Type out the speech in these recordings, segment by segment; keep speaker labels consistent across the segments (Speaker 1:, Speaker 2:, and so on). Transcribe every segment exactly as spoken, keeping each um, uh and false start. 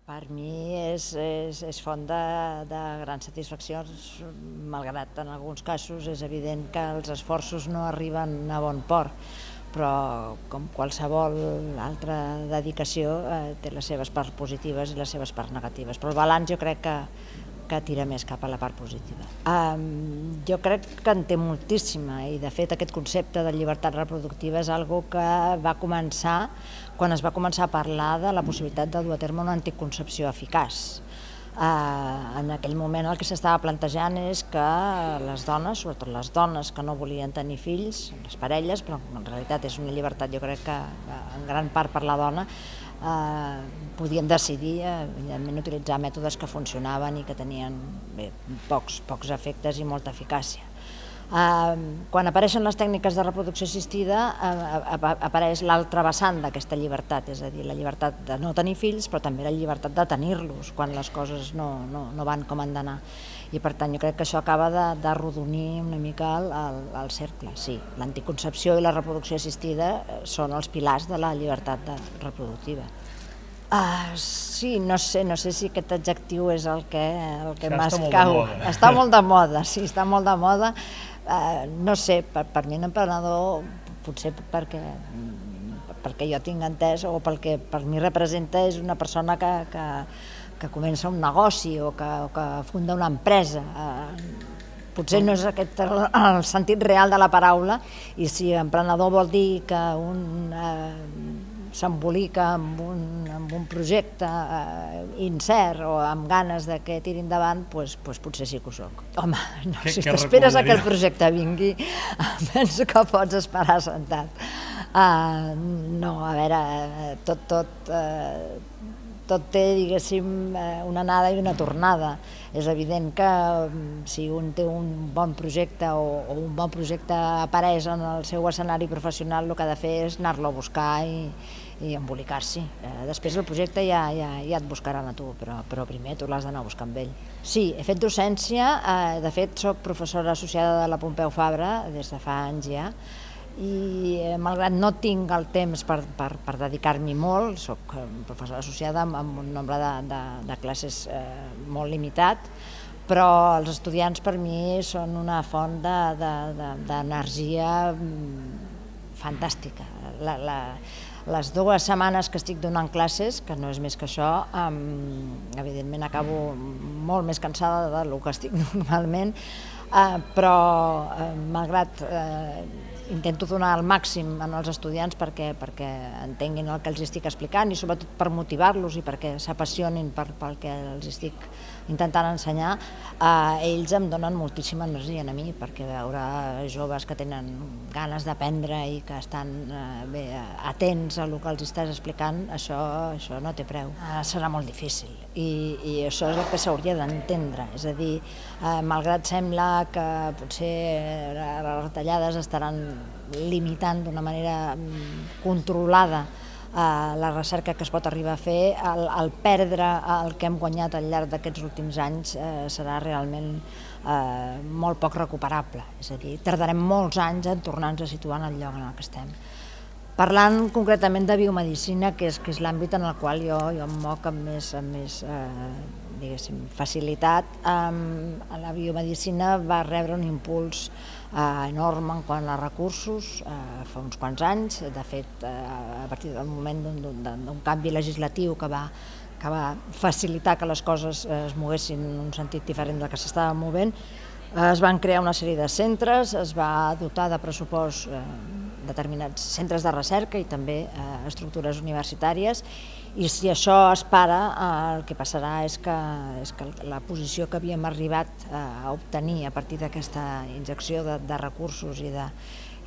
Speaker 1: Per mi és, és, és font de, de grans satisfaccions, malgrat en alguns casos és evident que els esforços no arriben a bon port, però com qualsevol altra dedicació eh, té les seves parts positives i les seves parts negatives, però el balanç jo crec que, que tira més cap a la part positiva. Um, jo crec que en té moltíssima i de fet aquest concepte de llibertat reproductiva és algo que va començar quan es va començar a parlar de la possibilitat de dur a terme una anticoncepció eficaç. Uh, en aquell moment el que s'estava plantejant és que les dones, sobretot les dones que no volien tenir fills, les parelles, però en realitat és una llibertat jo crec que en gran part per la dona, uh, podien decidir evidentment utilitzar mètodes que funcionaven i que tenien bé, pocs, pocs efectes i molta eficàcia. Uh, quan apareixen les tècniques de reproducció assistida uh, apareix l'altra vessant d'aquesta llibertat, és a dir, la llibertat de no tenir fills, però també la llibertat de tenir-los quan les coses no, no, no van com han d'anar. I per tant jo crec que això acaba d'arrodonir una mica el, el, el cercle. Sí, l'anticoncepció i la reproducció assistida són els pilars de la llibertat de, reproductiva. Uh, sí, no sé, no sé si aquest adjectiu és el que, el que m'escau. Està molt de moda, sí, està molt de moda. Uh, no sé, per, per mi un emprenedor, potser perquè, perquè jo tinc entès o pel que per mi representa és una persona que, que, que comença un negoci o que, o que funda una empresa. Uh, potser no és aquest el, el sentit real de la paraula, i si emprenedor vol dir que un uh, s'embolica amb un, amb un projecte eh, incert o amb ganes de que tiri endavant, doncs, doncs potser sí que ho soc. Home, no, si t'esperes que el projecte vingui, penso que pots esperar sentat. Uh, no, a veure, tot, tot, uh, tot té, diguéssim, una anada i una tornada. És evident que si un té un bon projecte o, o un bon projecte apareix en el seu escenari professional, el que ha de fer és anar-lo a buscar i, i embolicar-s'hi. Eh, després el projecte ja, ja, ja et buscaran a tu, però, però primer tu l'has d'anar a buscar amb ell. Sí, he fet docència, eh, de fet soc professora associada de la Pompeu Fabra des de fa anys ja, i eh, malgrat no tinc el temps per, per, per dedicar-m'hi molt, soc professora associada amb, amb un nombre de, de, de classes eh, molt limitat, però els estudiants per mi són una font d'energia de, de, fantàstica. La, la, les dues setmanes que estic donant classes, que no és més que això, eh, evidentment acabo molt més cansada del que estic normalment, eh, però eh, malgrat eh, intento donar el màxim als estudiants perquè, perquè entenguin el que els estic explicant i sobretot per motivar-los i perquè s'apassionin per, pel que els estic intentant ensenyar, eh, ells em donen moltíssima energia a mi, perquè veure joves que tenen ganes d'aprendre i que estan eh, bé, atents a el que els estàs explicant, això, això no té preu. Eh, serà molt difícil i, i això és el que s'hauria d'entendre, és a dir, eh, malgrat sembla que potser les retallades estaran limitant d'una manera controlada la recerca que es pot arribar a fer, el, el perdre el que hem guanyat al llarg d'aquests últims anys eh, serà realment eh, molt poc recuperable, és a dir, tardarem molts anys en tornar-nos a situar en el lloc en el que estem. Parlant concretament de biomedicina, que és, que és l'àmbit en el qual jo, jo em moc amb més, amb més eh, diguéssim, facilitat, eh, la biomedicina va rebre un impuls eh, enorme en quant a recursos eh, fa uns quants anys. De fet, eh, a partir del moment d'un canvi legislatiu que va, que va facilitar que les coses eh, es moguessin en un sentit diferent del que s'estava movent, eh, es van crear una sèrie de centres, es va dotar de pressupost eh, determinats centres de recerca i també eh, estructures universitàries, i si això es para, eh, el que passarà és que, és que la posició que havíem arribat eh, a obtenir a partir d'aquesta injecció de, de recursos i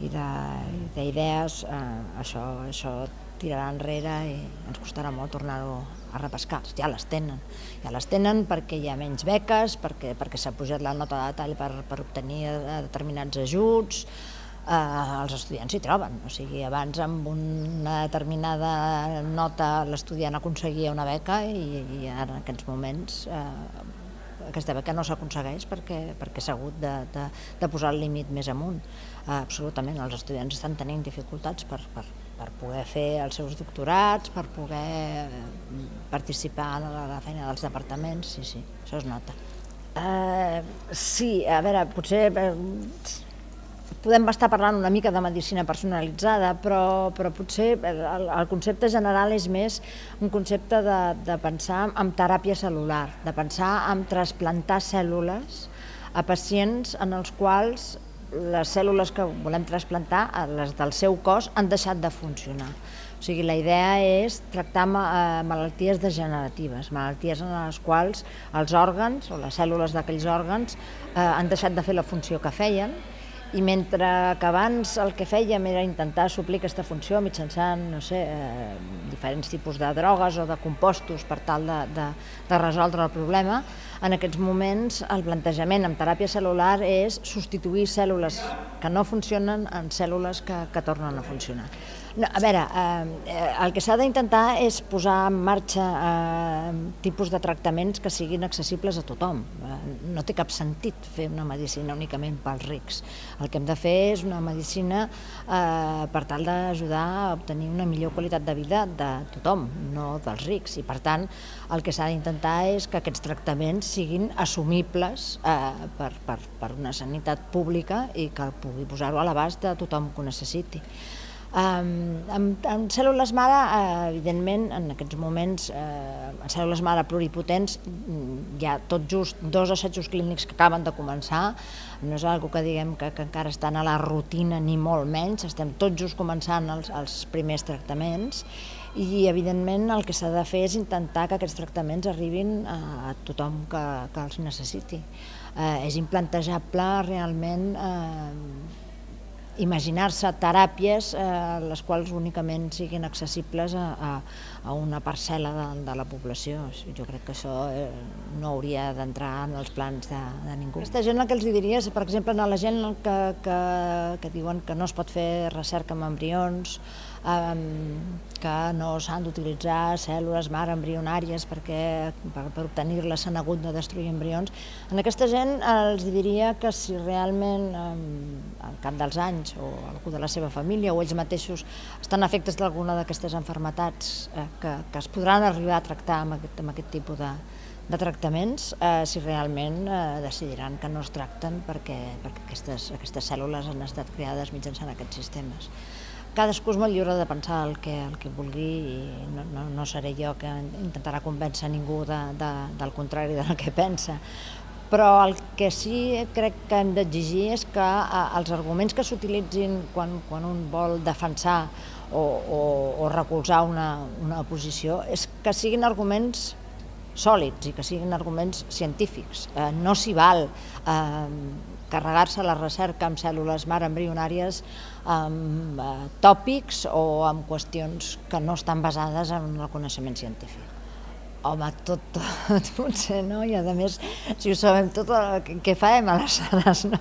Speaker 1: d'idees, eh, això, això tirarà enrere i ens costarà molt tornar-ho a repescar. Ja les tenen, ja les tenen perquè hi ha menys beques, perquè, perquè s'ha pujat la nota de detall per, per obtenir determinats ajuts. Uh, els estudiants s'hi troben, o sigui, abans amb una determinada nota l'estudiant aconseguia una beca i, i ara en aquests moments uh, aquesta beca no s'aconsegueix perquè, perquè s'ha hagut de, de, de posar el límit més amunt. Uh, absolutament, els estudiants estan tenint dificultats per, per, per poder fer els seus doctorats, per poder participar en la feina dels departaments, sí, sí, això es nota. Uh, sí, a veure, potser eh, podem estar parlant una mica de medicina personalitzada, però, però potser el, el concepte general és més un concepte de, de pensar en teràpia cel·lular, de pensar en trasplantar cèl·lules a pacients en els quals les cèl·lules que volem trasplantar, les del seu cos, han deixat de funcionar. O sigui, la idea és tractar malalties degeneratives, malalties en les quals els òrgans o les cèl·lules d'aquells òrgans han deixat de fer la funció que feien, i mentre que abans el que fèiem era intentar suplir aquesta funció mitjançant, no sé, eh, diferents tipus de drogues o de compostos per tal de, de, de resoldre el problema, en aquests moments el plantejament en teràpia cel·lular és substituir cèl·lules que no funcionen en cèl·lules que, que tornen a funcionar. No, a veure, eh, el que s'ha d'intentar és posar en marxa eh, tipus de tractaments que siguin accessibles a tothom. Eh, no té cap sentit fer una medicina únicament pels rics. El que hem de fer és una medicina eh, per tal d'ajudar a obtenir una millor qualitat de vida de tothom, no dels rics. I per tant, el que s'ha d'intentar és que aquests tractaments siguin assumibles eh, per, per, per una sanitat pública i que pugui posar-ho a l'abast de tothom que ho necessiti. Um, en, en cèl·lules mare, eh, evidentment, en aquests moments, eh, en cèl·lules mare pluripotents, hi ha tot just dos assajos clínics que acaben de començar, no és una que diguem que, que encara estan a la rutina ni molt menys, estem tot just començant els, els primers tractaments i, evidentment, el que s'ha de fer és intentar que aquests tractaments arribin a, a tothom que, que els necessiti. Eh, és implantejable realment eh, imaginar-se teràpies eh, les quals únicament siguin accessibles a, a, a una parcel·la de, de la població. Jo crec que això eh, no hauria d'entrar en els plans de, de ningú. Aquesta gent el que els diria és, per exemple, a la gent que, que, que diuen que no es pot fer recerca amb embrions, eh, que no s'han d'utilitzar cèl·lules mare embrionàries perquè per, per obtenir-les s'han hagut de destruir embrions. En aquesta gent els diria que si realment eh, al cap dels anys o algú de la seva família o ells mateixos estan afectes d'alguna d'aquestes malalties eh, que, que es podran arribar a tractar amb aquest, amb aquest tipus de, de tractaments, eh, si realment eh, decidiran que no es tracten perquè, perquè aquestes, aquestes cèl·lules han estat creades mitjançant aquests sistemes. Cadascú és molt lliure de pensar el que, el que vulgui i no, no, no seré jo que intentarà convèncer ningú de, de, del contrari del que pensa. Però el que sí crec que hem d'exigir és que els arguments que s'utilitzin quan, quan un vol defensar o, o, o recolzar una, una posició és que siguin arguments sòlids i que siguin arguments científics. Eh, no s'hi val eh, carregar-se la recerca amb cèl·lules mare embrionàries amb eh, tòpics o amb qüestions que no estan basades en el coneixement científic. Home, tot, tot potser no, i a més, si ho sabem tot, què farem aleshores, no?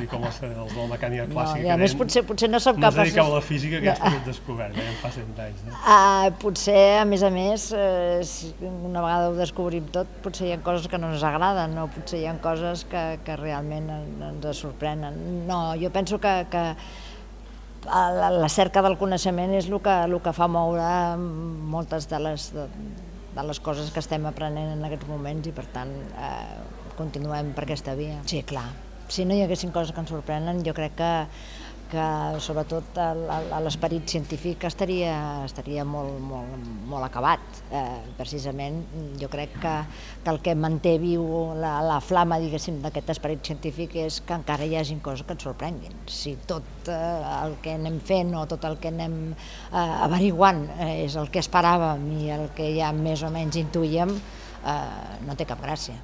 Speaker 2: I com els de la mecànica clàssica,
Speaker 1: no, i a més potser, potser no som
Speaker 2: no
Speaker 1: capaços...
Speaker 2: No es dedicava a la física, que ja està tot descobert, ja en fa cent anys, no?
Speaker 1: Uh, potser, a més a més, eh, si una vegada ho descobrim tot, potser hi ha coses que no ens agraden, no? Potser hi ha coses que, que realment ens sorprenen. No, jo penso que, que la, la cerca del coneixement és el que, el que fa moure moltes de les... De, de les coses que estem aprenent en aquests moments i, per tant, eh, continuem per aquesta via. Sí, clar, si no hi haguessin coses que ens sorprenen, jo crec que, que sobretot l'esperit científic estaria, estaria molt, molt, molt acabat. Eh, precisament, jo crec que, que el que manté viu la, la flama, diguéssim, d'aquest esperit científic és que encara hi hagin coses que ens sorprenguin. Si tot eh, el que anem fent o tot el que anem eh, averiguant eh, és el que esperàvem i el que ja més o menys intuïem, eh, no té cap gràcia.